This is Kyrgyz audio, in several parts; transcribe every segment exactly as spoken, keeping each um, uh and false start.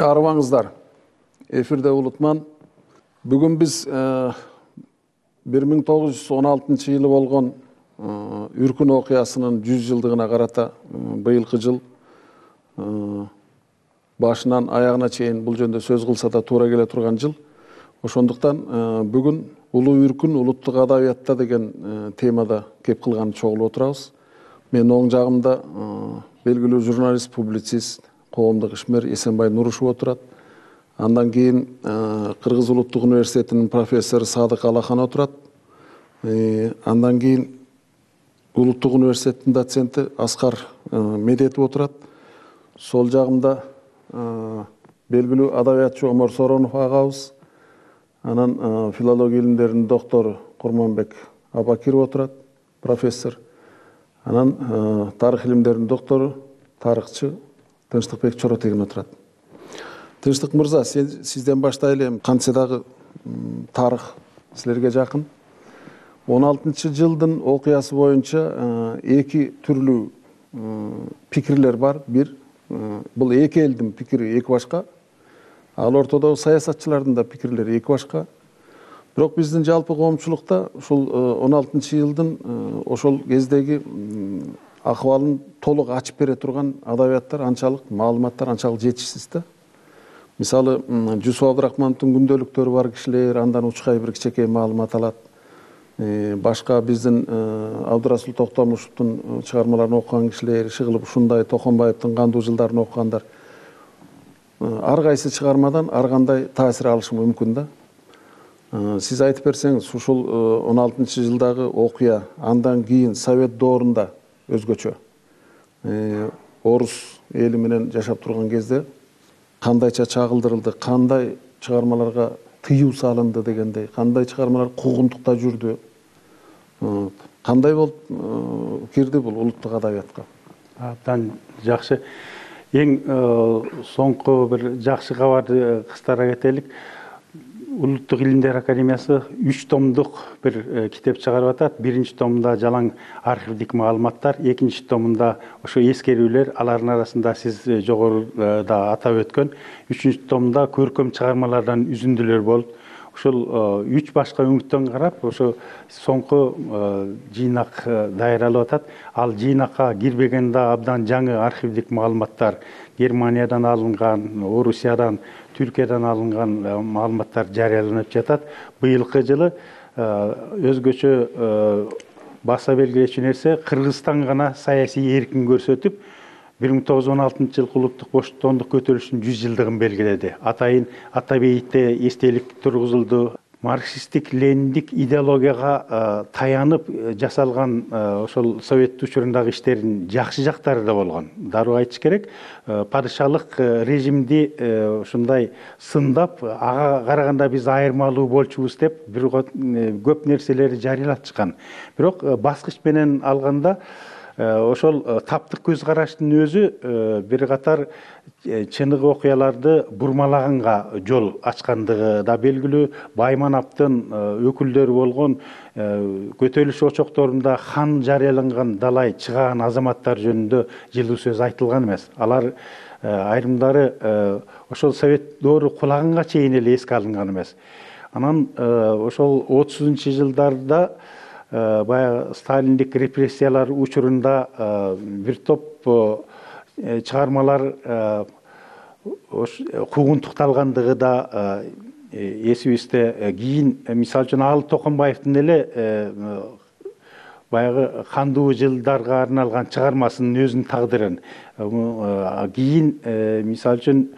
Арыбаңыздар. Эфирде Улутман. Бүгүн биз бир миң тогуз жүз он алтынчы жылы болгон Үркүн окуясынын жүз жылдыгына карата быйылкы жыл башынан аягына чейин бул жөнүндө сөз кылса да туура келе турган жыл. Ошондуктан бүгүн Улуу Үркүн улуттук адабиятта деген темада кеп кылган чогулуп отурабыз. Мен оң жагымда белгилүү журналист, публицист, коомдук ишмер Эсенбай Нурушев отурат. Андан кийин Кыргыз улуттук университетинин профессору Садык Алахан отурат. Андан кийин улуттук университеттин доценти Аскар Медетов отурат. Сол жагымда белгилүү адабиятчы Омар Соронов агабыз, анан филология илимдеринин доктору Курманбек Абакиров отурат, профессор. Анан тарых илимдеринин доктору, тарыхчы Тынчтыкбек Чоротегин отурат. Тынчтык мырза, сизден баштайлы. Кантсе дагы тарых силерге жакын. он алтынчы жылдын окуясы боюнча эки түрлүү пикирлер бар. Бир, бул эки элдин пикири эки башка. Ал ортодогу саясатчылардын да пикирлери эки башка. Бирок биздин жалпы коомчулукта ушул он алтынчы жылдын ошол кездеги акыбалын толук ачып бере турган адабияттар анчалык, маалыматтар анчалык жетишсиз да. Мисалы, Жусуп Абдрахмановдун күндөлүктөрү бар кишилер андан учкай бир кичинекей маалымат алат. Башка биздин Абдырасул Токтомушевдун чыгармаларын окуган кишилер, Шыгылып ушундай, Токонбаевдин кандуу жылдарын окугандар ар кайсы чыгармадан ар кандай таасир алышы мүмкүн да. Сиз айтып берсеңиз, ушул он алтынчы жылдагы окуя, андан кийин Совет доорунда өзгөчө орус эли менен жашап турган кезде кандайча чагылдырылды, кандай чыгармаларга тыюу салынды дегендей, кандай чыгармалар куугунтукта жүрдү, кандай болуп кирди бул улуттук адабиятка? Абдан жакшы. Эң соңку бир жакшы кабарды кыстара кетелик. Улуттук илимдер академиясы үч томдук бир китеп чыгарып атат. Биринчи томунда жалаң архивдик маалыматтар, экинчи томунда ошо эскерүүлөр, алардын арасында сиз жогоруда атап өткөн, үчүнчү томунда көркөм чыгармалардан үзүндүлөр болуп, ушул үч башка өңүттөн карап, ошо соңку жыйнак даярдалып атат. Ал жыйнакка кирбегенде абдан жаңы архивдик маалыматтар, Германиядан алынган, Орусиядан, Түркиядан алынган маалыматтар жарыяланып жатат. Быйылкы жылы өзгөчө баса белгилечү нерсе, Кыргызстан гана саясий эркин көрсөтүп, бир миң тогуз жүз он алтынчы жылкы улуттук боштондук көтөрүлүшүнүн жүз жылдыгын белгиледи. Атайын Ата бейитте эстелик тургузулду. Марксисттик, лениндик идеологияга таянып жасалган ошол совет учурундагы иштердин жакшы жактары да болгон. Дароо айтыш керек, падышалык режимди ушундай сындап, ага караганда биз айырмалуу болчубуз деп бир көп нерселерди жарыялатышкан. Бирок баскыч менен алганда ошол таптык көз караштын өзү бир катар чыныгы окуяларды бурмалаганга жол ачкандыгы да белгилүү. Байманаптын өкүлдөрү болгон көтөрүлүш очокторунда хан жарыяланган далай чыган азаматтар жөнүндө жылуу сөз айтылган эмес. Алар айрымдары ошол совет доору кулаганга чейин эле эске алынган эмес. Анан ошол отузунчу жылдарда баягы сталиндик репрессиялар учурунда бир топ чыгармалар куугунтукталгандыгы да эсибизде. Кийин мисалы үчүн ал Токонбаевдин эле баягы кандуу жылдарга арналган чыгармасынын өзүнүн тагдырын, кийин мисалы үчүн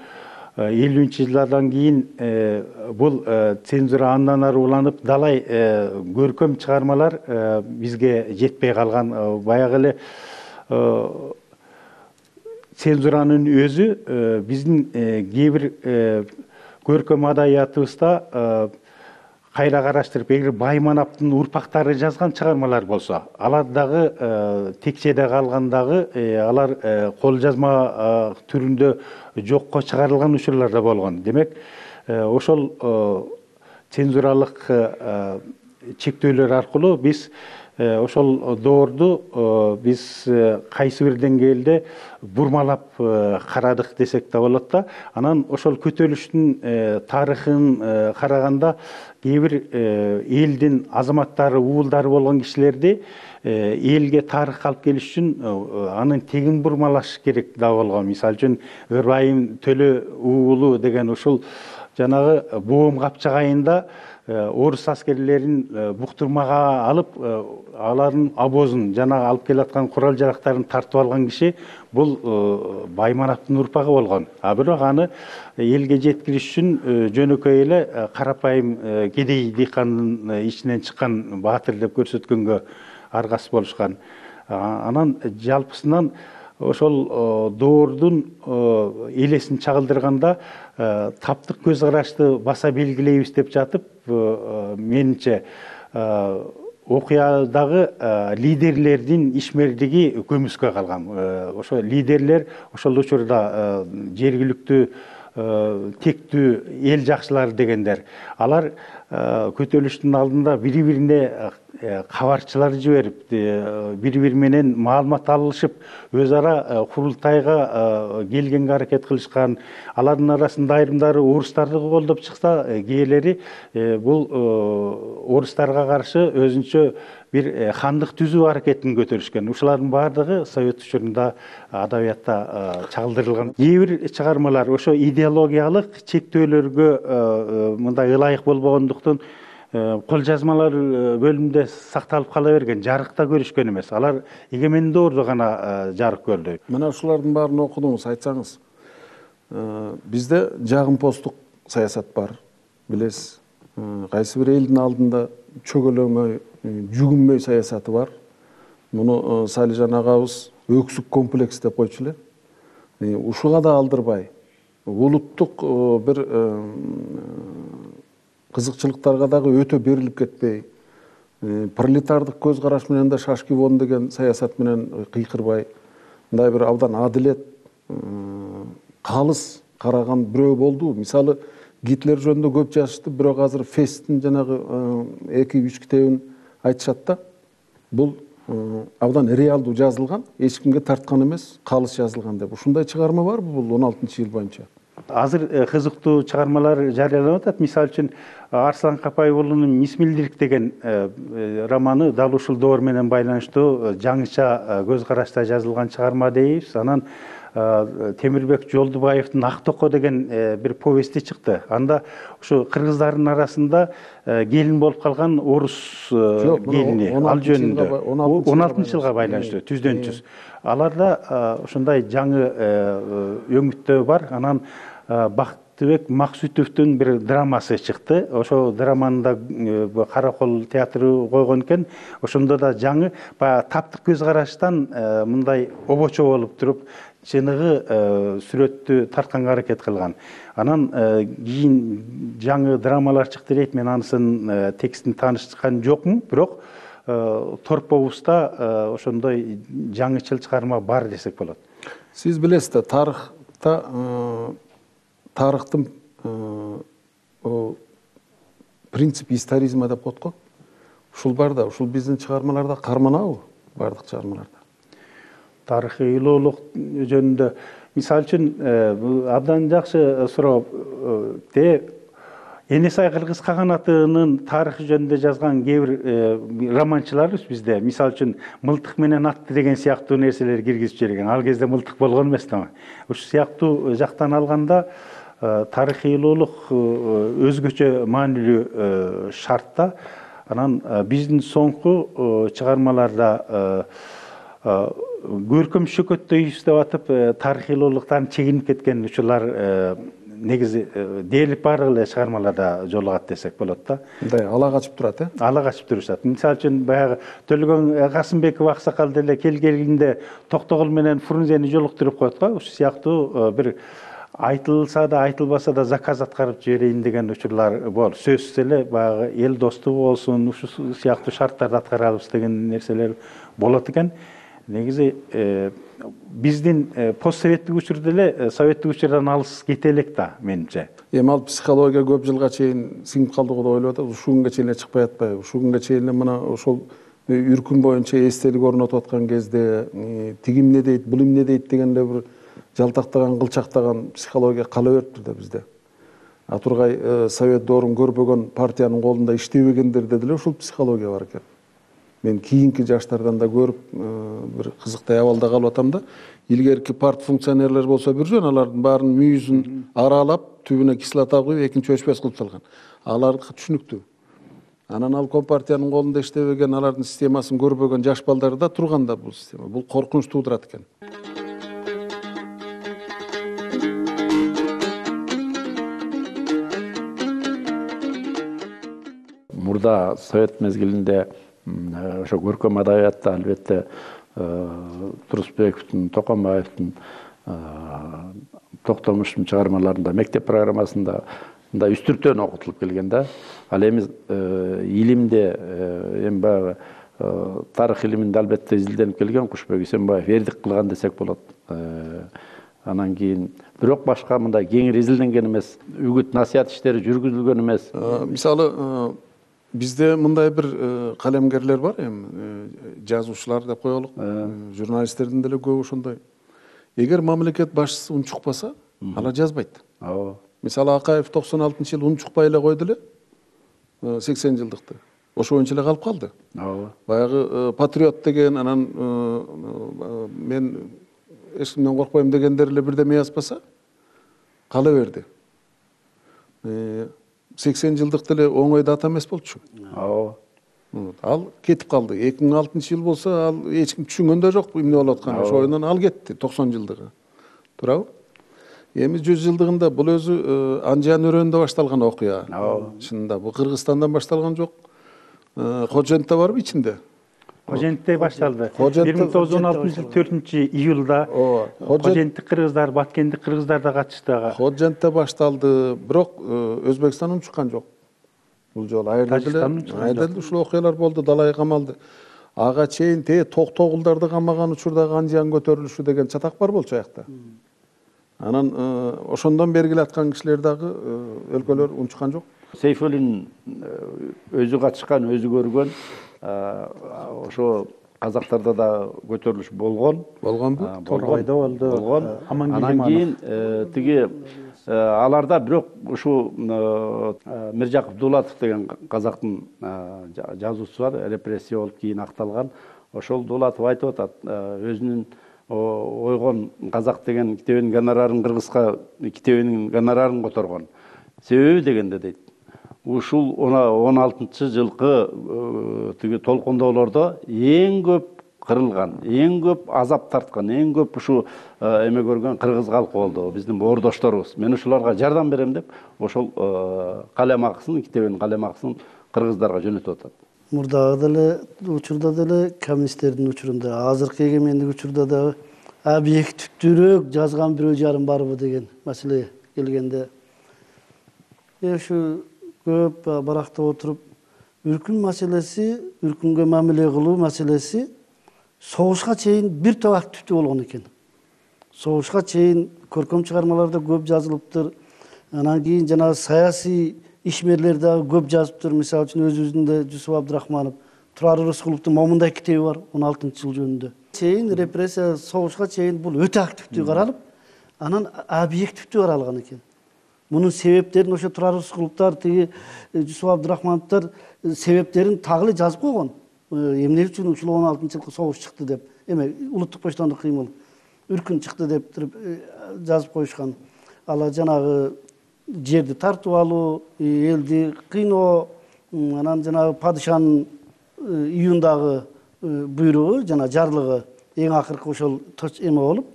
элүүнчү жылдардан кийин бул цензура андан ары уланып, далай көркөм чыгармалар бизге жетпей калган. Баягы эле цензуранын өзү биздин кээ бир көркөм адабиятыбызда кайра караштырып, эгер Байманаптын урпактары жазган чыгармалар болсо, алар дагы текчеде калгандагы, алар кол жазма түрүндө жокко чыгарылган учурлар да болгон. Демек, ошол цензуралык чектөөлөр аркылуу биз ошол доорду биз кайсы бир деңгээлде бурмалап карадык десек да болот да. Анан ошол көтөрүлүштүн тарыхын караганда кээ бир элдин азаматтары, уулдары болгон кишилерди элге тарых алып келиш үчүн анын тегин бурмалаш керек да болгон. Мисалы үчүн Ырайым Төлө уулу деген ушул жанагы Боом капчагайында орус аскерлерин буктурмага алып, алардын обозун, жанагы алып келаткан курал жарактарын тартып алган киши бул Баймановдун урпагы болгон. А бирок аны элге жеткириш үчүн жөнөкөй эле карапайым кедей дыйкандын ичинен чыккан баатыр деп көрсөткөнгө аргасыз болушкан. Анан жалпысынан ошол доордун элесин чагылдырганда таптык көз карашты баса белгилейбиз деп жатып, менимче окуядагы лидерлердин ишмердиги көмүскө калган. Ошо лидерлер ошол учурда жергиликтүү тектүү эл жакшылары дегендер. Алар көтөрүлүштүн алдында бири-бирине кабарчылар жиберип, бири-бири менен маалымат алышып, өз ара курултайга келгенге аракет кылышкан. Алардын арасында айрымдары орустарды колдоп чыкса, кээделери бул орустарга каршы өзүнчө бир хандык түзүү аракетин көтөрүшкөн. Ушулардын баардыгы совет учурунда адабиятта чагылдырылган. Кээ бир чыгармалар ошо идеологиялык чектөөлөргө мындай ылайык болбогондуктан кол жазмалар бөлүмүндө сакталып кала берген, жарыкта көрүшкөн эмес. Алар эгемен доордо гана жарык көрдү. Мына ушулардын баарын окудуңуз, айтсаңыз. Бизде жагымпоздук саясат бар, билесиз. Кайсы бир элдин алдында чөгөлөмөй, жүгүнмөй саясаты бар. Муну Салижан агабыз өксүк комплекс деп койчу эле. Ушуга да алдырбай, улуттук бир кызыкчылыктарга дагы өтө берилип кетпей, пролетардык көз караш менен да шашки вон деген саясат менен кыйкырбай, мындай бир абдан адилет, калыс караган бирөө болду. Мисалы, Гитлер жөнүндө көп жазышты, бирок азыр Фесттин жанагы эки үч китебин айтышат да. Бул абдан реалдуу жазылган, эч кимге тарткан эмес, калыс жазылган деп. Ушундай чыгарма барбы бул он алтынчы жыл боюнча? Азыр кызыктуу чыгармалар жарыяланып атат. Мисалы үчүн Арслан Капай уулунун Мисмилдирик деген романы дал ушул доор менен байланыштуу жаңыча көз карашта жазылган чыгарма дейбиз. Анан Темирбек Жолдубаевдин Ак токо деген бир повести чыкты. Анда ушу кыргыздардын арасында келин болуп калган орус келини, ал жөнүндө он алтынчы жылга байланыштуу, түздөн түз. Аларда ушундай жаңы өңүттөө бар. Анан Бактыбек Максутовдун бир драмасы чыкты. Ошо драманы да Каракол театры койгон экен. Ошондо да жаңы таптык көз караштан мындай обочо болуп туруп, чыныгы сүрөттү тартканга аракет кылган. Анан кийин жаңы драмалар чыкты дейт. Мен анысын текстин таанышкан жокмун, бирок Торповузда ошондой жаңычыл чыгарма бар десек болот. Сиз билесиз да, тарыхта тарыхтын принцип историзма деп коет го. Ушул бар да, ушул биздин чыгармаларда карманабы? Бардык чыгармаларда. Тарыхыйлуулук жөнүндө мисалы үчүн абдан жакшы суроо. Те Энесай Кыргыз каганатынын тарыхы жөнүндө жазган кээ бир романчыларыбыз бизде. Мисалы үчүн Мылтык менен атты деген сыяктуу нерселер киргизип жиберген. Ал кезде мылтык болгон эмес да. Ушул сыяктуу жактан алганда тарыхыйлуулук өзгөчө маанилүү шартта. Анан биздин соңку чыгармаларда көркөм шөкөттөйбүз деп атып, тарыхыйлуулуктан чегинип кеткен учурлар негизи дээрлик баардык эле чыгармаларда жолугат десек болот да. Мындай ала качып турат, э? Ала качып турушат. Мисалы үчүн баягы Төлөгөн Касымбеков аксакал деле келгенде Токтогул менен Фрунзени жолуктуруп коет го. Ушул сыяктуу бир айтылса да айтылбаса да заказ аткарып жиберейин деген учурлар бар. Сөзсүз эле баягы эл достугу болсун, ушул сыяктуу шарттарды аткарабыз деген нерселер болот экен. Негизи биздин постсоветтик учурда эле советтик учурдан алыс кете элек да, менимче. Эми ал психология көп жылга чейин сиңип калды го деп ойлоп атат. Ушул күнгө чейин эле чыкпай атпайбы? Ушул күнгө чейин эле мына ошол үркүн боюнча эстелик орнотуп аткан кезде тиги эмне дейт, бул эмне дейт деген эле бир жалтактаган, кылчактаган психология кала бериптир да бизде. А тургай совет доорун көрбөгөн партиянын колунда иштебегендерде деле ушул психология бар экен. Мен кийинки жаштардан да көрүп бир кызыктай абалда калып атам да. Илгерки парт функционерлер болсо бир жөн, алардын баарын мүйүзүн аралап, түбүнө кислота куюп, экинчи өчпөс кылып салган. Алардыкы түшүнүктүү. Анан ал компартиянын колунда иштебеген, алардын системасын көрбөгөн жаш балдар да турган да бул система. Бул коркунуч туудурат экен. Мурда совет мезгилинде ошо көркөм адабиятта албетте Турусбековдун, Токомаевдин, Токтомуштун чыгармаларында, мектеп программасында мындай үстүртөн окутулуп келген да. Ал эми илимде эми баягы тарых илиминде албетте изилденип келген Кушбек Исенбаев эрдик кылган десек болот. Анан кийин бирок башка мындай кеңири изилденген эмес, үгүт насаят иштери жүргүзүлгөн эмес. Мисалы бизде мындай бир калемгерлер бар, эми жазуучулар деп коелук, журналисттердин деле көбү ошондой. Эгер мамлекет башчысы унчукпаса, алар жазбайт. Ооба. Мисалы Акаев токсон алтынчы жылы унчукпай эле койду эле сексен жылдыкты. Ошо боюнча эле калып калды. Ооба. Баягы патриот деген, анан мен эч кимден коркпойм дегендер эле бирдеме жазбаса, кала берди. сексен жылдык деле оңой дата эмес болчу. Ооба. Ал кетип калды. эки миң алтынчы жыл болсо, ал эч ким түшүнгөн да жок эмне болуп атканын. Ошо ойунан ал кетти токсон жылдыгы. Туурабы? Эми жүз жылдыгында бул өзү Анжан өрөөнүндө башталган окуя. Чынында бул Кыргызстандан башталган жок. Кожентте барбы ичинде? Кожентте башталды. бир миң тогуз жүз он алтынчы жыл төртүнчү июлда Коженттик кыргыздар, Баткендик кыргыздар да катышты. Кожентте башталды, бирок Өзбекстан унчуккан жок. Бул жолу айрда деле ушул окуялар болду, далай камалды. Ага чейин те токтогулдарды камаган учурдагы Анжан көтөрүлүшү деген чатак бар болчу аякта. Анан ошондон бери келаткан кишилер дагы өлкөлөр унчуккан жок. Сейфуллин өзү катышкан, өзү көргөн, ошо казактарда да көтөрүлүш болгон. Болгонбу? Торгойдо болду. Болгон. Анан кийин тиги аларда бирок ушу Миржакып Дулатов деген казактын жазуучусу бар, репрессия болуп кийин акталган. Ошол Дулатов айтып атат, өзүнүн ойгон казак деген китебинин гонорарын кыргызга китебинин гонорарын которгон. Себеби дегенде дейт, ушул он алтынчы жылкы тиги толкундоолордо эң көп кырылган, эң көп азап тарткан, эң көп ушу эме көргөн кыргыз калкы болду, биздин боордошторубуз. Мен ушуларга жардам берем деп, ошол калем акысын, китебинин калем акысын кыргыздарга жөнөтүп атат. Мурдагы деле учурда деле коммунисттердин учурунда, азыркы эгемендик учурда да объективдүүрөөк жазган бирөө жарым барбы деген маселе келгенде, ушу көп барактап отуруп, үркүн маселеси, үркүнгө мамиле кылуу маселеси согушка чейин бир топ активдүү болгон экен. Согушка чейин көркөм чыгармаларда көп жазылыптыр. Анан кийин жана саясий ишмерлер дагы көп жазыптыр. Мисалы үчүн өзүбүздүн Жусуп Абдрахманов, Турар Рыскуловдун момундай китеби бар он алтынчы жыл жөнүндө. Чейин репрессия согушка чейин бул өтө активдүү каралып, анан объективдүү каралган экен. Мунун себептерин ошо Турар Рыскуловдор, тиги Жусуп Абдрахмановдор себептерин тагы жазып койгон. Эмне үчүн ушул он алтынчы жылкы согуш чыкты деп, эме улуттук баштоодук кыймыл, үркүн чыкты деп туруп жазып коюшкан. Ала жанагы жерди тартып алуу, элди кыйноо, анан жанагы падышанын июндагы буйругу, жана жарлыгы эң акыркы ошол эме болуп,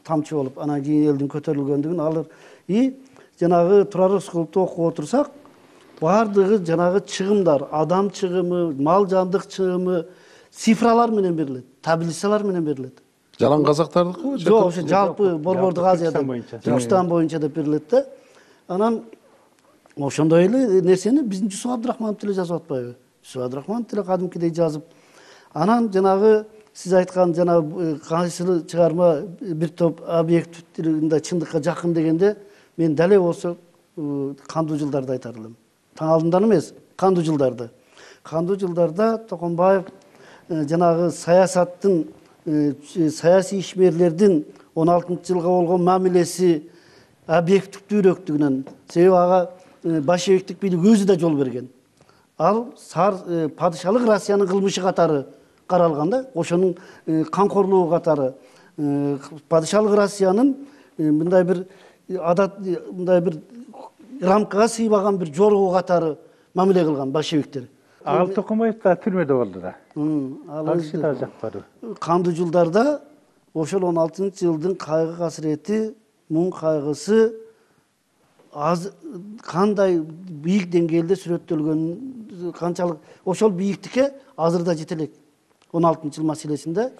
тамчы болуп, анан кийин элдин көтөрүлгөндүгүн алыр. И жанагы Турар Рыскуловду окуп отурсак, бардыгы жанагы чыгымдар, адам чыгымы, мал жандык чыгымы цифралар менен берилет, таблицалар менен берилет. Жалаң казактардыкы? Жок, ошо жалпы Борбордук Азияда, Түркистан боюнча деп берилет да. Анан ошондой эле нерсени биздин Жусуп Абдрахманов деле жазып атпайбы? Жусуп Абдрахманов деле кадимкидей жазып. Анан жанагы сиз айткан жанагы кайсыл чыгарма бир топ объективдеринде чындыкка жакын дегенде, мен дале болсо кандуу жылдарды айтар элем. Таң алдындан эмес, кандуу жылдарды. кандуу жылдарда Токомбаев жанагы саясаттын саясий ишмерлердин он алтынчы жылга болгон мамилеси объективдүүрөөктүгүнөн, себеби ага большевиктик бийлик өзү да жол берген. Ал сар падышалык Россиянын кылмышы катары каралган да, ошонун камкорлугу катары падышалык Россиянын мындай бир адат, мындай бир рамкага сыйбаган бир жоргу катары мамиле кылган большевиктер. Ал Токомбаев да түрмөдө болду да. Ал киши да жакпады. Кандуу жылдарда ошол он алтынчы жылдын кайгы касірети, муң кайгысы аз кандай бийик деңгээлде сүрөттөлгөн, канчалык ошол бийиктикке азыр да жете элек. он алтынчы жыл маселесинде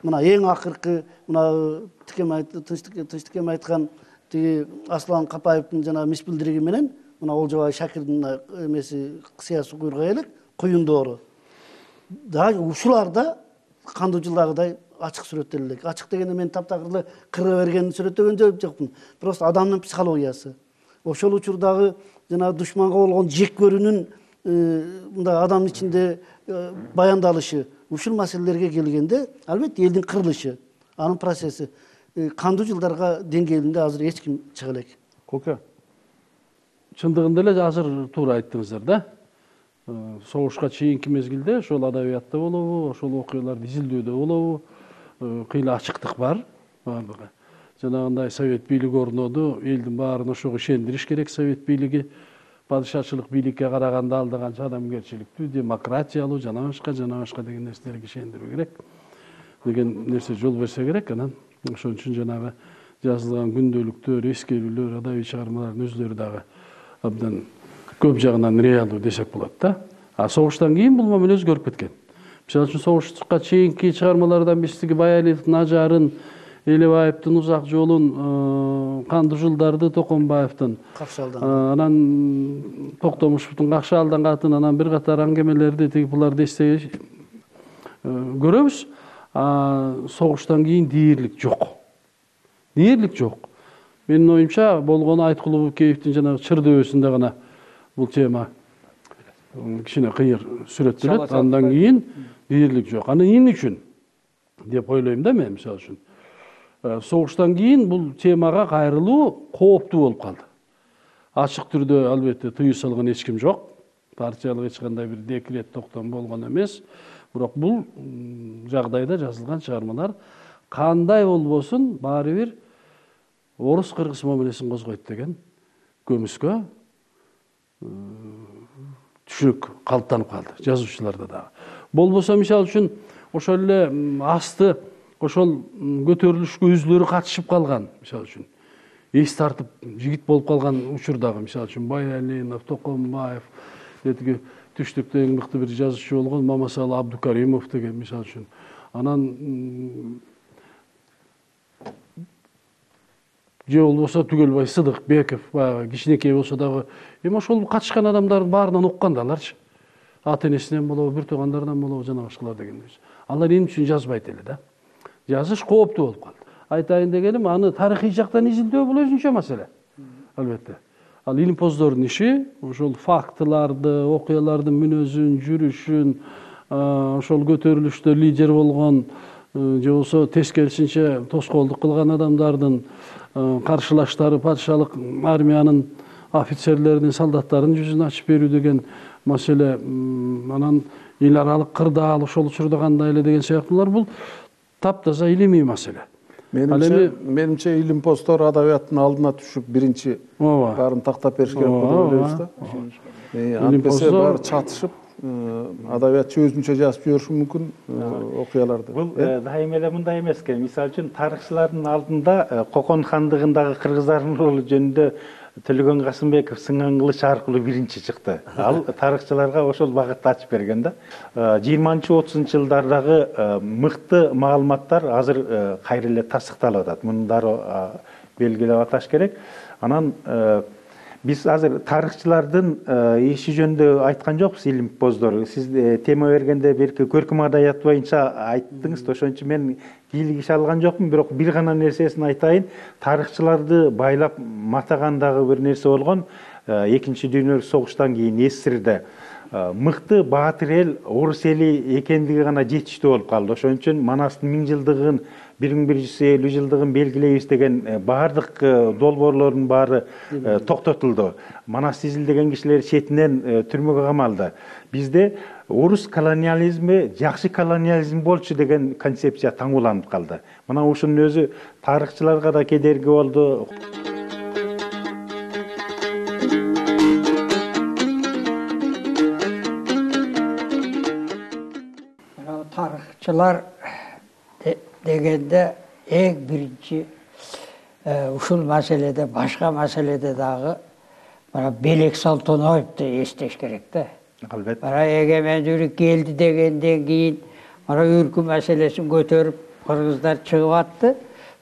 мына эң акыркы мына Тынчтыкем айткан тиги Аслан Капаевдин жана мис билдириги менен мына Олжобай Шакирдин эмеси сыясий куйруга элек куюндоору. Да ушуларда кандуу жылдагыдай ачык сүрөттөлө элек. Ачык дегенде мен таптакыр кыра бергенин сүрөттөгөн жокмун. Просто адамдын психологиясы. Ошол учурдагы жана душманга болгон жек көрүүнүн мындай адамдын ичинде баяндалышы, ушул маселелерге келгенде албетте элдин кырылышы, анын процесси кандуу жылдарга деңгээлинде азыр эч ким чыга элек. Коке, чындыгында эле азыр туура айттыңыздар да. Согушка чейинки мезгилде ошол адабиятта болобу, ошол окуяларды изилдөөдө болобу, кыйла ачыктык бар. Жанагындай совет бийлиги орноду, элдин баарын ошого ишендириш керек. Совет бийлиги падышачылык бийликке караганда алда канча адамгерчиликтүү, демократиялуу, жана башка, жана башка деген нерселерге ишендирүү керек деген нерсе жол берсе керек. Анан ошон үчүн жанагы жазылган күндөлүктөр, эскерүүлөр, адабий чыгармалардын өзлөрү дагы абдан көп жагынан реалдуу десек болот да. А согуштан кийин бул мамиле өзгөрүп кеткен. Мисалы үчүн согушка чейинки чыгармалардан биздики Баялиевдин Ажарын, Элебаевдин Узак жолун, кандуу жылдарды Токомбаевдин, анан Токтомушевдин Какшаалдан катын, анан бир катар аңгемелерди тиги буларды эстей көрөбүз. Согуштан кийин дээрлик жок. Дээрлик жок. Менин оюмча болгону Айткулов Кеевдин жанагы Чыр дөбөсүндө гана бул тема кичине кыйыр сүрөттөлөт. Андан кийин дээрлик жок. Аны эмне үчүн деп ойлойм да мен, мисалы үчүн. Согуштан кийин бул темага кайрылуу кооптуу болуп калды. Ачык түрдө албетте тыюу салган эч ким жок. Партиялык эч кандай бир декрет токтом болгон эмес. Бирок бул жагдайда жазылган чыгармалар кандай болбосун баары бир орус кыргыз мамилесин козгойт деген көмүскө түшүнүк калыптанып калды жазуучуларда дагы. Болбосо мисалы үчүн ошол эле асты ошол көтөрүлүшкө өзүлөрү катышып калган, мисалы үчүн эс тартып жигит болуп калган учурдагы, мисалы үчүн Баялинов, Токомбаев, детиги түштүктө эң мыкты бир жазуучу болгон Мамасалы Абдукаримов деген, мисалы үчүн. Анан же болбосо Түгөлбай Сыдыкбеков, баягы кичинекей болсо дагы, эми ошол катышкан адамдардын баарынан уккан да аларчы. Ата энесинен болобу, бир туугандарынан болобу, жана башкалар деген. Алар эмне үчүн жазбайт эле да? Жазыш кооптуу болуп калды. Айтайын дегеним, аны тарыхый жактан изилдөө бул өзүнчө маселе. Албетте. Ал илимпоздордун иши ошол фактыларды, окуялардын мүнөзүн, жүрүшүн, ошол көтөрүлүштө лидер болгон же болсо тескерисинче тоскоолдук кылган адамдардын каршылаштары, падышалык армиянын офицерлеринин, солдаттарынын жүзүн ачып берүү деген маселе, анан эл аралык кырдаал ошол учурда кандай эле деген сыяктуулар, бул таптаза илимий маселе. Менимче, менимче илимпоздор адабияттын алдына түшүп биринчи баарын тактап бериш керек болуп ойлойбуз да. Антпесе баары чатышып, адабиятчы өзүнчө жазып жибериши мүмкүн окуяларды. Бул дайыма эле мындай эмес экен. Мисалы үчүн тарыхчылардын алдында Кокон хандыгындагы кыргыздардын ролу жөнүндө Төлөгөн Касымбеков Сыңган кылыч аркылуу биринчи чыкты. Ал тарыхчыларга ошол багытты ачып берген да. жыйырманчы отузунчу жылдардагы мыкты маалыматтар азыр кайра эле тасыкталып атат. Мундары белгилеп аташ керек. Анан биз азыр тарыхчылардын иши жөнүндө айткан жокпуз, илимпоздор. Сиз тема бергенде берки көркөм адабият боюнча айттыңыз, ошон үчүн мен кийлик иш алган жокмун, бирок бир гана нерсесин айтайын. Тарыхчыларды байлап матагандагы бир нерсе болгон экинчи дүйнөлүк согуштан кийин Эссирде мыкты баатыр эл орус эли экендиги гана жетиштүү болуп калды. Ошон үчүн Манастын миң жылдыгын, бир миң бир жүз элүү жылдыгын белгилейбиз деген баардык долбоорлордун баары токтотулду. Манасты изилдеген кишилер четинен түрмөгө камалды. Бизде орус колониализми жакшы колониализм болчу деген концепция таңууланып калды. Мына ушунун өзү тарыхчыларга да кедерги болду. Tarıkçılar degende en birinci uşul meselede, başka meselede dağı bana Belek Saltonoyev'di esteş gerekti. Bana egemenlik geldi degenden keyin bana ürkü meselesini götürüp Kırgızlar çıkıp attı.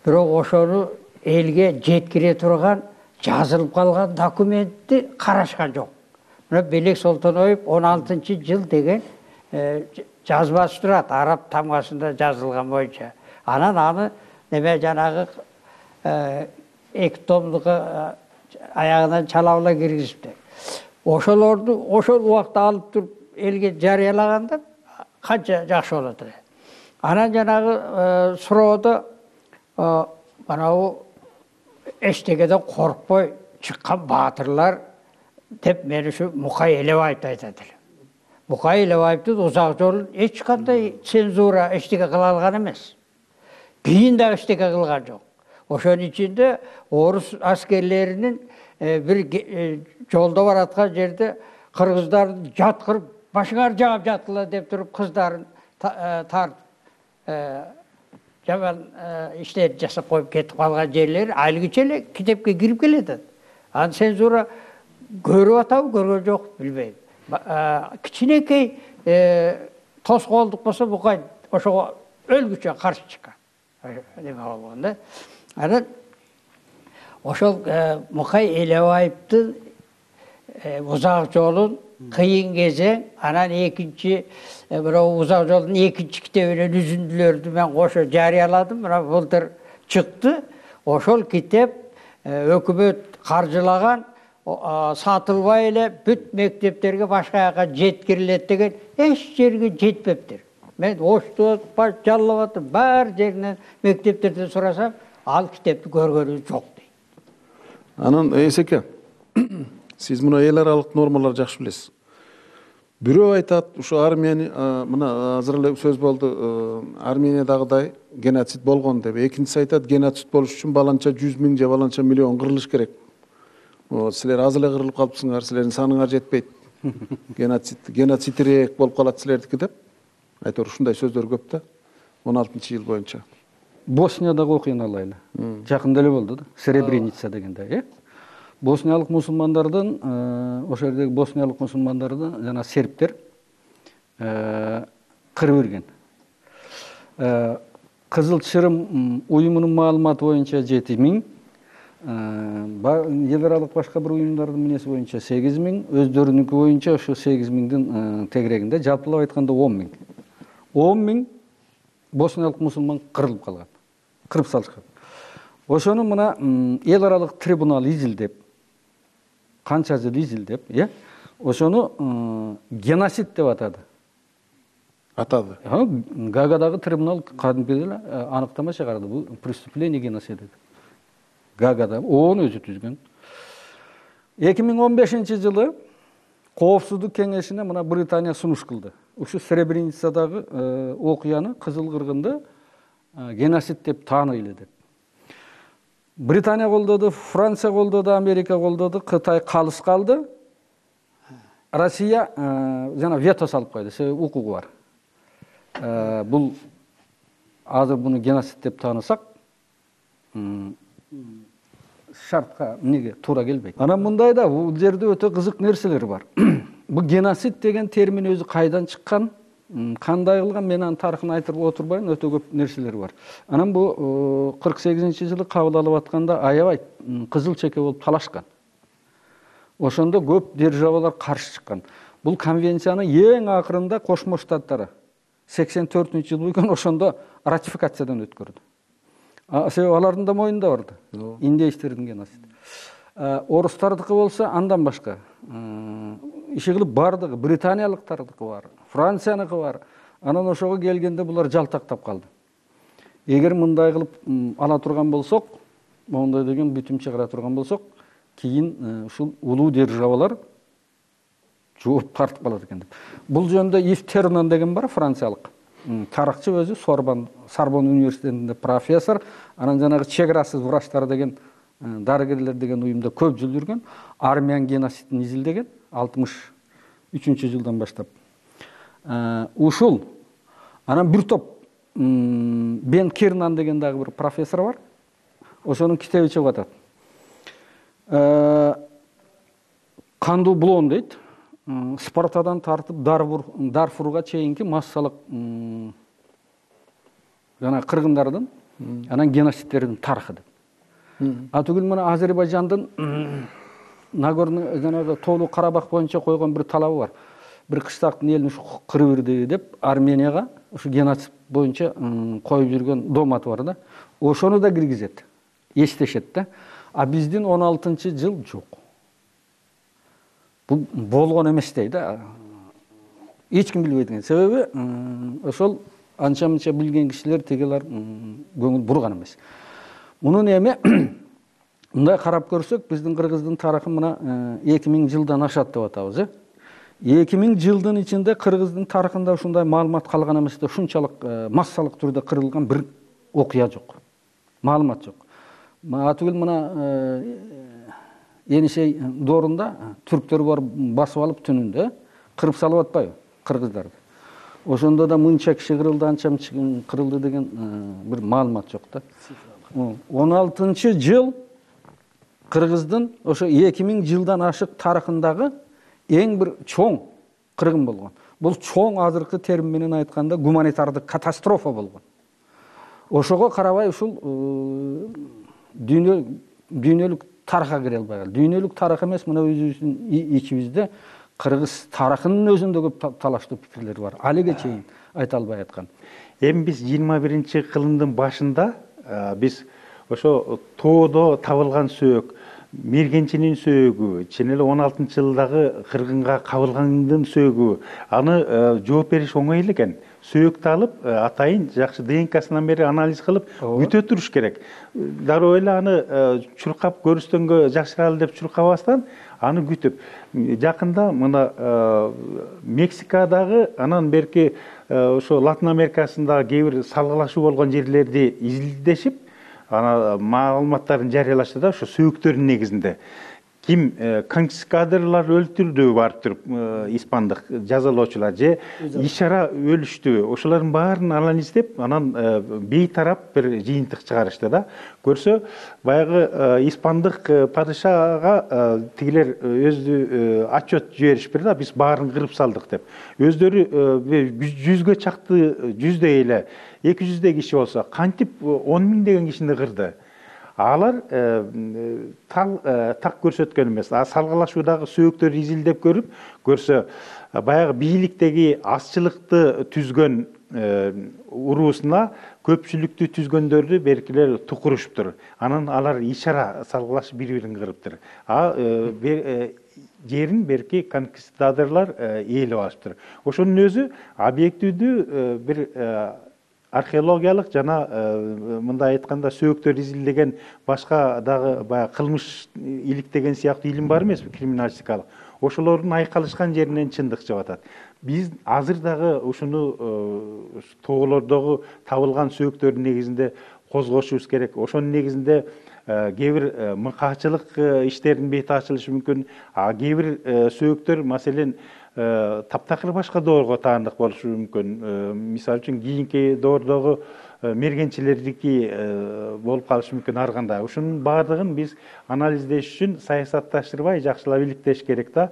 Biroq oşonu elge jetkire turgan, жазылып калган документти карашкан жок. Мына Белек Солтоноев он алтынчы жыл деген жазбасы турат, араб тамгасында жазылган боюнча. Анан аны неме жанагы эки томдугу аягынан чалабыла киргизиптир. Ошолорду ошол убакта алып туруп элге жарыялаганда канча жакшы болот эле. Анан жанагы суроодо манабу эчтекеден коркпой чыккан баатырлар деп мен ушу Мукай Элебаевди айтат элем. Мукай Элебаевдин узак жолун эч кандай цензура эчтеке кыла алган эмес. Кийин да эчтеке кылган жок. Ошонун ичинде орус аскерлеринин бир жолдо бараткан жерде кыргыздарды жаткырып башыңар жаап жаткыла деп туруп кыздарын тартып жаман иштер жасап коюп кетип калган жерлери айлгиче эле китепке кирип келет. Аны цензура көрүп атабы, көргөн жок, билбейм. Кичинекей тоскоолдук болсо Мукай ошого өлгүчө каршы чыккан. Неме болгон да. Анан ошол Мукай Элебаевдин узак жолун кыйын кезең, анан экинчи бирок узак жолдун экинчи китебинен үзүндүлөрдү мен кошо жарыяладым. Мына былтыр чыкты. Ошол китеп өкмөт каржылаган, сатылбай эле бүт мектептерге башка жака жеткирилет деген эч жерге жетпептир. Мен Ошту баш жаллап атып, бар жеринен мектептерден сурасам, ал китепти көргөнү жок дейт. Анан эсеке, сиз мына эл аралык нормалар жакшы билесиз. Бирөө айтат, ушу Армения, мына азыр эле сөз болду, Армениядагыдай геноцид болгон деп. Экинчиси айтат, геноцид болуш үчүн баланча жүз миң же баланча миллион кырылыш керек. Силер аз эле кырылып калыпсыңар, силердин саныңар жетпейт. Геноцид, геноцидирээк болуп калат силердики деп. Айтор ушундай сөздөр көп да. он алтынчы жыл боюнча. Босниядагы окуяны алайлы. Жакында эле болду да, Сребреница дегенде, э? Босниялык мусулмандардын, ошол жердеги босниялык мусулмандардын жана сербтер кырып ирген. Кызыл Чырым уюмунун маалыматы боюнча жети миң, эл аралык башка бир уюмдардын мүнөзү боюнча сегиз миң, өздөрүнүнкү боюнча ошо сегиз миңдин тегерегинде, жалпылап айтканда он миң. он миң босниялык мусулман кырылып калган, кырып салышкан. Ошону мына эл аралык трибунал изилдеп, канча жыл изилдеп, э? Ошону геноцид деп атады. Атады. Гаагадагы трибунал кадимки эле аныктама чыгарды. Бул преступление геноцида. Гаагада ону өзү түзгөн. эки миң он бешинчи жылы Коопсуздук кеңешине мына Британия сунуш кылды. Ушу Сребреницадагы окуяны, Кызыл кыргынды геноцид деп тааныйлы деп. Британия колдоду, Франция колдоду, Америка колдоду, Кытай калыс калды. Россия жана вето салып койду, себеби укугу бар. Бул азыр буну геноцид деп таанысак, шартка эмнеге туура келбейт. Анан мындай да, бул жерде өтө кызык нерселер бар. Бул геноцид деген термин өзү кайдан чыккан, кандай кылган, мен анын тарыхын айтып отурбайм, өтө көп нерселер бар. Анан бул кырк сегизинчи жылы кабыл алып атканда аябай кызыл чеке болуп талашкан. Ошондо көп державалар каршы чыккан. Бул конвенциянын эң акырында Кошмо Штаттары сексен төртүнчү жыл болгон, ошондо ратификациядан өткөрдү. Себеби алардын да моюнда бар да. Индейчтердин геноциди. Орустардыкы болсо андан башка. иши кылып бардыгы британиялыктардыкы бар, Францияныкы бар. Анан ошого келгенде булар жалтактап калды. Эгер мындай кылып ала турган болсок, моундай деген бүтүм чыгара турган болсок, кийин ушул улуу державалар жооп тартып калат экен деп. Бул жөнүндө Ив Тернан деген бар, франциялык тарыхчы, өзү Сорбон Сорбон университетинде профессор. Анан жанагы Чек арасыз врачтар деген дарыгерлер деген уюмда көп жыл жүргөн, армян геноцидин изилдеген алтымыш үчүнчү жылдан баштап. Ушул анан бир топ Бен Кернан деген дагы бир профессор бар. Ошонун китеби чыгып атат. Кандуу булон дейт. Спартадан тартып Дарфурга чейинки массалык жана кыргындардын анан геноцидтердин тарыхы деп. А түгүл мына Азербайжандын Нагорный жанагы Тоолуу Карабах боюнча койгон бир талабы бар. Бир кыштактын элин ушу кырып ирди деп Арменияга ушу геноцид боюнча коюп жүргөн доматы бар да. Ошону да киргизет, эстешет да. А биздин он алтынчы жыл жок. Бул болгон эмес дейт да. Эч ким билбейт экен. Себеби ошол анча-мынча билген кишилер тегелер көңүл бурган эмес. Мунун эми мындай карап көрсөк, биздин кыргыздын тарыхы мына эки миң жылдан ашат деп атабыз, э? эки миң жылдын ичинде кыргыздын тарыхында ушундай маалымат калган эмес да, ушунчалык массалык түрдө кырылган бир окуя жок. Маалымат жок. Атүгүл мына Енисей доорунда түрктөр бар басып алып түнүндө кырып салып атпайбы кыргыздарды. Ошондо да мынча киши кырылды, анча кырылды деген бир маалымат жок да. он алтынчы жыл кыргыздын ошо эки миң жылдан ашык тарыхындагы эң бир чоң кыргын болгон. Бул чоң азыркы термин менен айтканда гуманитардык катастрофа болгон. Ошого карабай ушул дүйнө дүйнөлүк тарыхка кире албай калды. Дүйнөлүк тарых эмес, мына өзүбүздүн ичибизде кыргыз тарыхынын өзүндө көп талаштуу пикирлер бар. Алиге чейин айта албай аткан. Эми биз жыйырма биринчи кылымдын башында биз ошо тоодо табылган сөөк, Мергенчинин сөөгү, чын эле он алтынчы жылдагы кыргынга кабылгандын сөөгү, аны жооп бериш оңой эле экен. Сөөктү алып, атайын жакшы ди эн касынан бери анализ кылып, күтө туруш керек. Дароо эле аны чуркап көрүстөнгө жакшыралы деп чуркабастан, аны күтүп. Жакында мына Мексикадагы, анан берки ошо Латын Америкасындагы кээ бир салгылашуу болгон жерлерди изилдешип, ана маалыматтарын жарыялашты да, ошо сөөктөрдүн негизинде. Ким конкистадорлар өлтүрдү барып туруп, испандык жазалоочулар же ишара өлүштү. Ошолордун баарын анализдеп, анан бейтарап бир жыйынтык чыгарышты да. Көрсө, баягы испандык падышага тигилер өзү отчет жиберишпи да, биз баарын кырып салдык деп. Өздөрү жүзгө чакты, жүздөй эле, эки жүздөй киши болсо, кантип он миң деген кишини кырды. Алар так көрсөткөн эмес. Салгылашуудагы сөөктөрдү изилдеп көрүп, көрсө, баягы бийликтеги азчылыкты түзгөн уруусуна көпчүлүктү түзгөндөрдү беркилер тукурушуптур. Анан алар ишара салгылашып бири-бирин кырыптыр. А жерин берки конкистадорлар ээлеп алыптыр. Ошонун өзү объективдүү бир археологиялык жана мындай айтканда сөөктөр изилдеген башка дагы баягы кылмыш иликтеген сыяктуу илим бар эмеспи, криминалистикалык. Ошолордун айкалышкан жеринен чындык чыгып атат. Биз азыр дагы ушуну тоолордогу табылган сөөктөрдүн негизинде козгошубуз керек. Ошонун негизинде кээ бир мыкаачылык иштердин бети ачылышы мүмкүн. А кээ бир сөөктөр, маселен, таптакыр башка доорго таандык болушу мүмкүн. Мисалы үчүн кийинки доордогу мергенчилердики болуп калышы мүмкүн ар кандай. Ушунун баардыгын биз анализдеш үчүн саясатташтырбай жакшылап иликтеш керек да.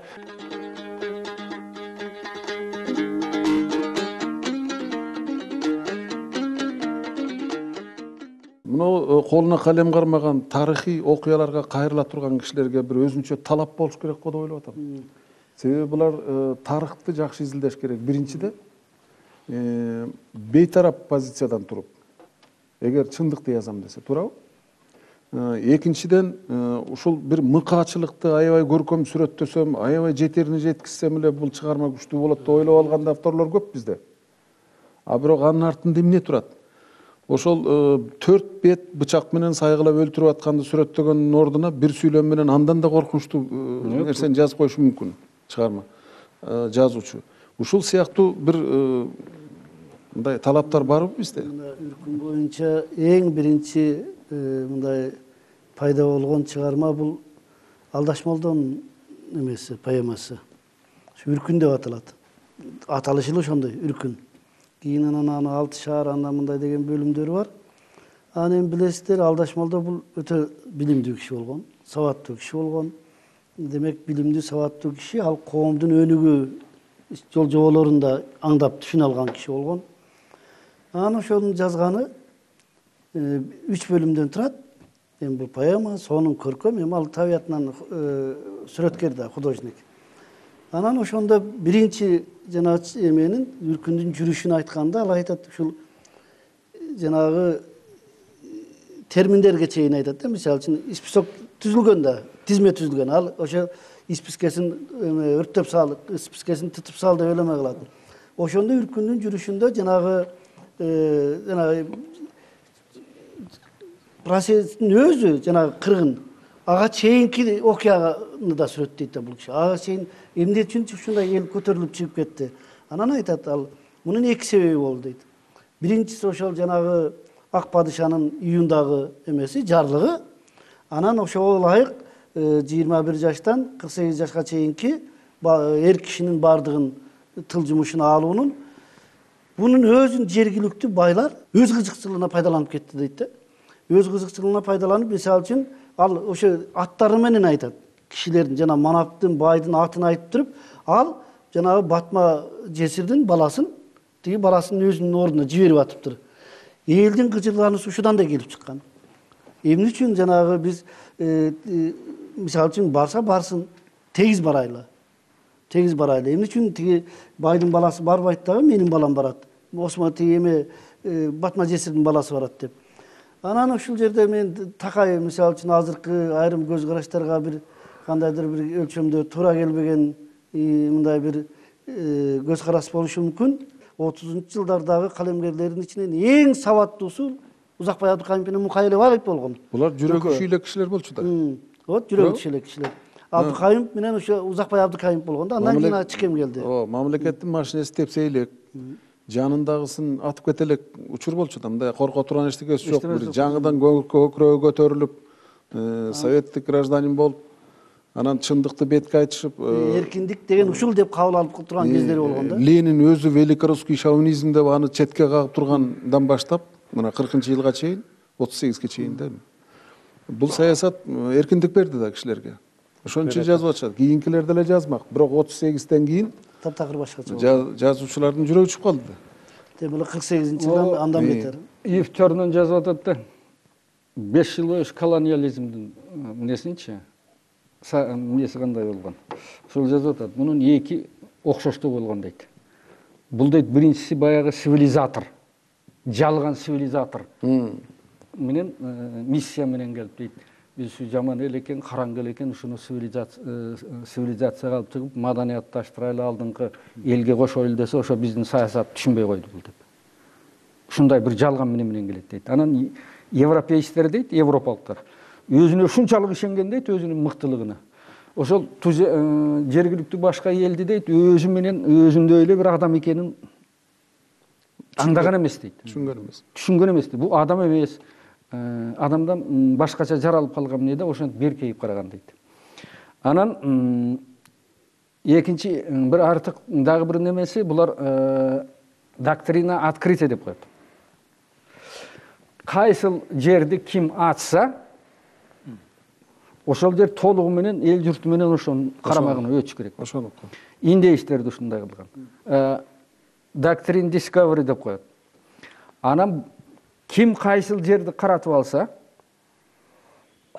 Муну колуна калем кармаган тарыхый окуяларга кайрыла турган кишилерге бир өзүнчө талап болуш керек го деп ойлоп атам. Себеби булар тарыхты жакшы изилдеш керек. Биринчиде бейтарап позициядан туруп, эгер чындыкты жазам десе, туурабы? Экинчиден ушул бир мыкаачылыкты аябай көркөм сүрөттөсөм, аябай жетерине жеткизсем эле бул чыгарма күчтүү болот деп ойлоп алган авторлор көп бизде. А бирок анын артында эмне турат? Ошол төрт бет бычак менен сайгылап өлтүрүп атканды сүрөттөгөндүн ордуна бир сүйлөм менен андан да коркунучтуу нерсени жазып коюшу мүмкүн чыгарма жазуучу. Ушул сыяктуу бир мындай талаптар барбы бизде? Үркүн боюнча эң биринчи мындай пайда болгон чыгарма бул Алдашмолдон эмеси, поэмасы. Үркүн деп аталат. Аталышы эле ошондой, Үркүн. Кийин анан аны алты шаар анда мындай деген бөлүмдөрү бар. Аны эми билесиздер, Алдашмолдо бул өтө билимдүү киши болгон, сабаттуу киши болгон. Демек, билимдүү, сабаттуу киши ал коомдун өнүгүү жол жоболорун да аңдап түшүнө алган киши болгон. Анан ошонун жазганы үч бөлүмдөн турат. Эми бул поэма, сонун көркөм, эми ал табиятынан сүрөткер да, художник. Анан ошондо биринчи жанагы эменин Үркүндүн жүрүшүн айтканда ал айтат, ушул жанагы терминдерге чейин айтат да, мисалы үчүн список түзүлгөн да, тизме түзүлгөн. Ал ошо спискесин өрттөп сал, спискесин тытып сал деп элеме кылат. Ошондо Үркүндүн жүрүшүндө жанагы жанагы процесстин өзү жанагы кыргын ага чейинки окуяны да сүрөттөйт да бул киши. Ага чейин эмне үчүн ушундай эл көтөрүлүп чыгып кетти. Анан айтат ал, мунун эки себеби болду дейт. Биринчиси ошол жанагы ак падышанын июндагы эмеси, жарлыгы. Анан ошого ылайык жыйырма бир жаштан кырк сегиз жашка чейинки эр кишинин бардыгын тыл жумушуна алуунун бунун өзүн жергиликтүү байлар өз кызыкчылыгына пайдаланып кетти дейт да. Өз кызыкчылыгына пайдаланып, мисалы үчүн ал ошо аттары менен айтат. Кишилердин жана манаптын, байдын атын айтып туруп, ал жанагы Батма жесирдин баласын, тиги баласынын өзүнүн ордуна жиберип атыптыр. Элдин кыжырлануусу ушудан да келип чыккан. Эмне үчүн жанагы биз мисалы үчүн барса барсын, тегиз барайлы. Тегиз барайлы. Эмне үчүн тиги байдын баласы барбайт дагы, менин балам барат. Осмо тиги эме Батма жесирдин баласы барат деп. Анан ушул жерде мен такай, мисалы үчүн азыркы айрым көз караштарга бир кандайдыр бир өлчөмдө туура келбеген мындай бир көз караш болушу мүмкүн. отузунчу жылдардагы калемгерлердин ичинен эң сабаттуусу Узакбай Абдыкайымов менен Мукайлабаев болгон. Булар жүрөгү күчү кишилер болчу да. Вот жүрөгү күчү кишилер. Абдыкайымов менен ошо Узакбай Абдыкайымов болгон да. Андан кийин Чикем келди. О, мамлекеттин машинеси тепсе элек, жанындагысын атып кете элек учур болчу да. Мындай корко турган эчтекеси жок. Бир жаңыдан көкүрөгү көтөрүлүп, советтик гражданин болуп, анан чындыкты бетке айтышып, эркиндик деген ушул деп кабыл алып турган кездери болгон да. Ленин өзү великорусский шовинизм деп аны четке кагып тургандан баштап, мына кыркынчы жылга чейин, отуз сегизге чейин да. Бул саясат эркиндик берди да кишилерге. Ошон үчүн жазып атышат. Кийинкилер деле жазмак. Бирок отуз сегизден кийин таптакыр башкача болду. Жазуучулардын жүрөгү чыгып калды да. Демек кырк сегизинчи жылдан андан бетер. Ифтөрүнөн жазып атат да. беш жыл бою колониализмдин эмнесинчи? Эмнеси кандай болгон? Ошол жазып атат. Мунун эки окшоштугу болгон дейт. Бул дейт биринчиси баягы цивилизатор. Жалган цивилизатор менен миссия менен келип дейт. Биз ушу жаман эл экен, караңгы эл экен, ушуну цивилизацияга алып чыгып, маданиятташтырайлы, алдыңкы элге кошойлу десе, ошо биздин саясатты түшүнбөй койду бул деп. Ушундай бир жалган менен менен келет дейт. Анан европеецтер дейт, европалыктар өзүнө ушунчалык ишенген дейт, өзүнүн мыктылыгына. Ошол жергиликтүү башка элди дейт, өзү менен өзүндөй эле бир адам экенин аңдаган эмес дейт. Түшүнгөн эмес. Түшүнгөн эмес дейт. Бул адам эмес. Адамдан башкача жаралып калган эмне да, ошентип беркейип караган дейт. Анан экинчи бир артык дагы бир немеси, булар доктрина открытия деп коет. Кайсыл жерди ким ачса, ошол жер толугу менен эл журту менен ошонун карамагына өтүш керек. Ошону. Индейиштерди ушундай кылган. Doctrine discovery деп коет. Анан ким кайсыл жерди каратып алса,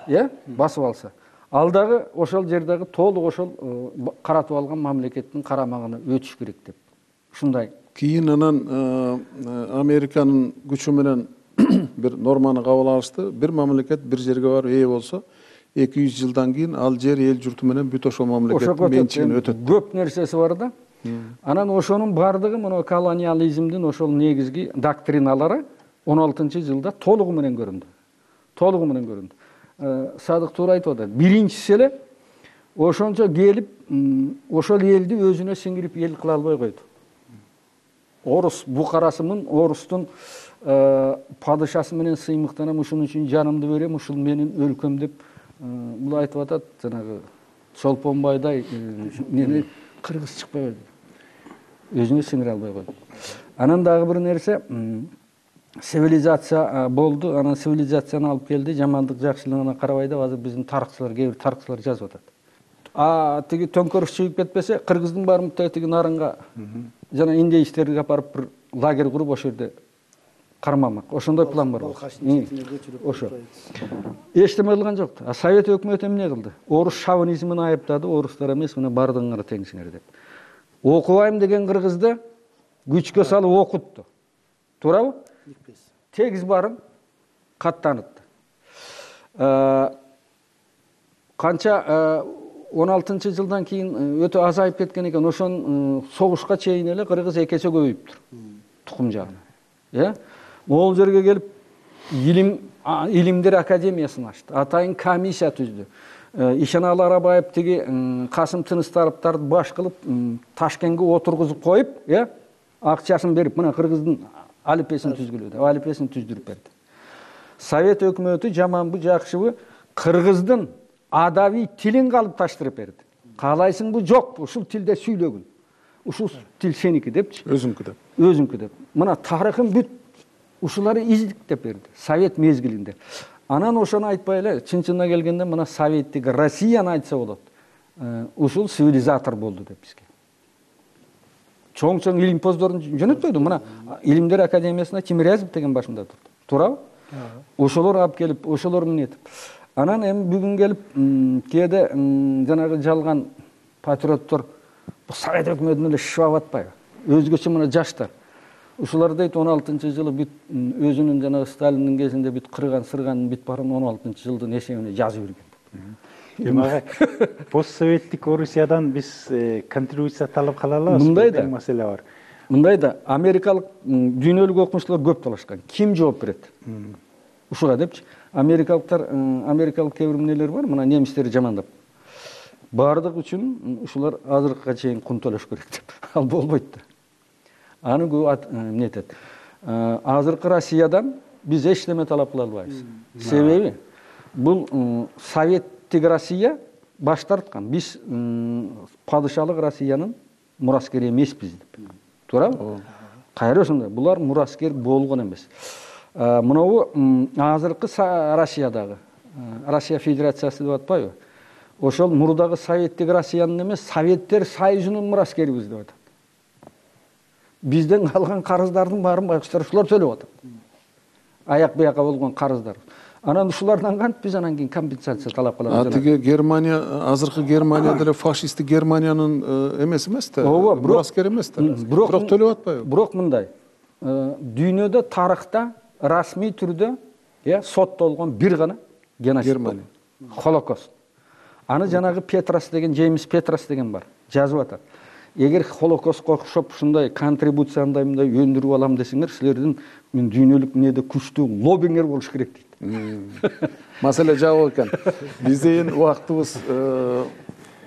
э, басып алса, ал дагы ошол жердеги толук ошол каратып алган мамлекеттин карамагына өтүш керек деп. Ушундай. Кийин анан Американын күчү менен бир норманы кабыл алышты. Бир мамлекет бир жерге барып ээ болсо, эки жүз жылдан кийин ал жер эл журту менен бүт ошол мамлекеттин менчигине өтөт. Көп нерсеси бар да. Анан ошонун бардыгы мына колониализмдин ошол негизги доктриналары он алтынчы жылда толугу менен көрүндү. Толугу менен көрүндү. Садык туура айтып атат. Биринчиси эле ошончо келип, ошол элди өзүнө сиңирип эл кыла албай койду. Орус букарасымын, орустун падышасы менен сыймыктанам, ушун үчүн жанымды берем, ушул менин өлкөм деп бул айтып атат. Жанагы Чолпонбайдай мени кыргыз чыкпай койду. Өзүнө сиңире албай койду. Анан дагы бир нерсе, цивилизация болду, анан цивилизацияны алып келди, жамандык жакшылыгына карабай деп азыр биздин тарыхчылар, кээ бир тарыхчылар жазып атат. А тиги төңкөрүш чыгып кетпесе, кыргыздын барымта тиги нарынга жана индейчтерди апарып бир лагерь куруп ошол жерде кармамак. Ошондой план бар. Ошо. Эчтеме кылган жок. А Совет өкмөтү эмне кылды? Орус шовинизмин айыптады, орустар эмес, мына бардыгыңар теңсиңер деп. Окубайм деген кыргызды күчкө салып окутту. Туурабы? Тегиз барын каттанытты. Канча он алтынчы жылдан кийин өтө азайып кеткен экен, ошон согушка чейин эле кыргыз экесе көбөйүптүр. Тукум жагынан. Э? Могул жерге келип илим илимдер академиясын ачты. Атайын комиссия түздү. Ишеналы Арабаев тиги Касым Тыныстаровдарды баш кылып Ташкентке отургузуп коюп, э? Акчасын берип, мына кыргыздын алипесин түзгүлө деп, алипесин түздүрүп берди. Совет өкмөтү жаманбы, жакшыбы кыргыздын адаби тилин калып таштырып берди. Каалайсыңбы, жокпу, ушул тилде сүйлөгүн. Ушул тил сеники депчи. Өзүңкү деп. Өзүңкү деп. Мына тарыхын бүт ушулары издиктеп берди. Совет мезгилинде. Анан ошону айтпай эле, чын-чынына келгенде мына Советтик Россияны айтса болот. Ушул цивилизатор болду деп бизге. Чоң-чоң илимпоздорун жөнөтпөйдү. Мына Илимдер академиясына Тимирязев деген башында турду. Туурабы? Ошолор алып келип, ошолор менен этип. Анан эми бүгүн келип, кээде жанагы жалган патриоттор бу Совет өкмөтүнө эле шыбап атпайбы? Өзгөчө мына жаштар. Ушулар дейт он алтынчы жылы бүт өзүнүн жанагы Сталиндин кезинде бүт кырган, сырганын бүт барын он алтынчы жылдын эсебине жазып жүргөн. Демек, постсоветтик Орусиядан биз контрибуция талап кала алабыз. Мындай да маселе бар. Мындай да америкалык дүйнөлүк окумуштуулар көп талашкан. Ким жооп берет? Ушуга депчи. Америкалыктар, америкалык кээ бир эмнелер бар, мына немистерди жамандап. Бардык үчүн ушулар азыркыга чейин кун төлөш керек деп. Ал болбойт да. Аны көп эмне этет. Азыркы Россиядан биз эч неме талап кыла албайбыз. Себеби бул Советтик Россия баш тарткан. Биз падышалык Россиянын мураскери эмеспиз деп. Туурабы? Кайра ошондой. Булар мураскер болгон эмес. Мынабу азыркы Россиядагы, Россия Федерациясы деп атпайбы? Ошол мурдагы Советтик Россиянын эмес, Советтер Союзунун мураскерибиз деп атат. Бизден калган карыздардын баарын байкуштар ушулар төлөп атат. Аяк бияка болгон карыздар. Анан ушулардан кантип биз анан кийин компенсация талап кылабыз? А тиги Германия, азыркы Германия деле фашисттик Германиянын эмес эмес да, мураскер эмес да. Бирок төлөп атпайбы? Бирок мындай. Дүйнөдө тарыхта расмий түрдө, э, соттолгон бир гана геноцид Германия. Холокост. Аны жанагы Петрас деген, Джеймс Петрас деген бар. Жазып атат. Эгер Холокостко окшоп ушундай контрибуцияны мындай өндүрүп алам десеңер, силердин мен дүйнөлүк эмнеде күчтүү лоббиңер болуш керек дейт. Маселе жабык экен. Биздин убактыбыз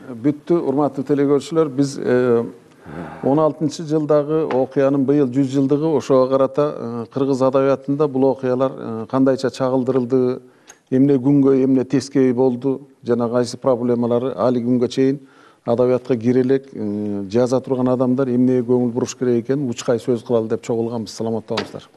бүттү, урматтуу телекөрүүчүлөр. Биз он алтынчы жылдагы окуянын быйыл жүз жылдыгы, ошого карата кыргыз адабиятында бул окуялар кандайча чагылдырылды, эмне күнгө, эмне тескей болду, жана кайсы проблемалары али күнгө чейин адабиятка кире элек, жаза турган адамдар эмнеге көңүл буруш керек экенин учкай сөз кылалы деп чогулганбыз. Саламатта болуңуздар.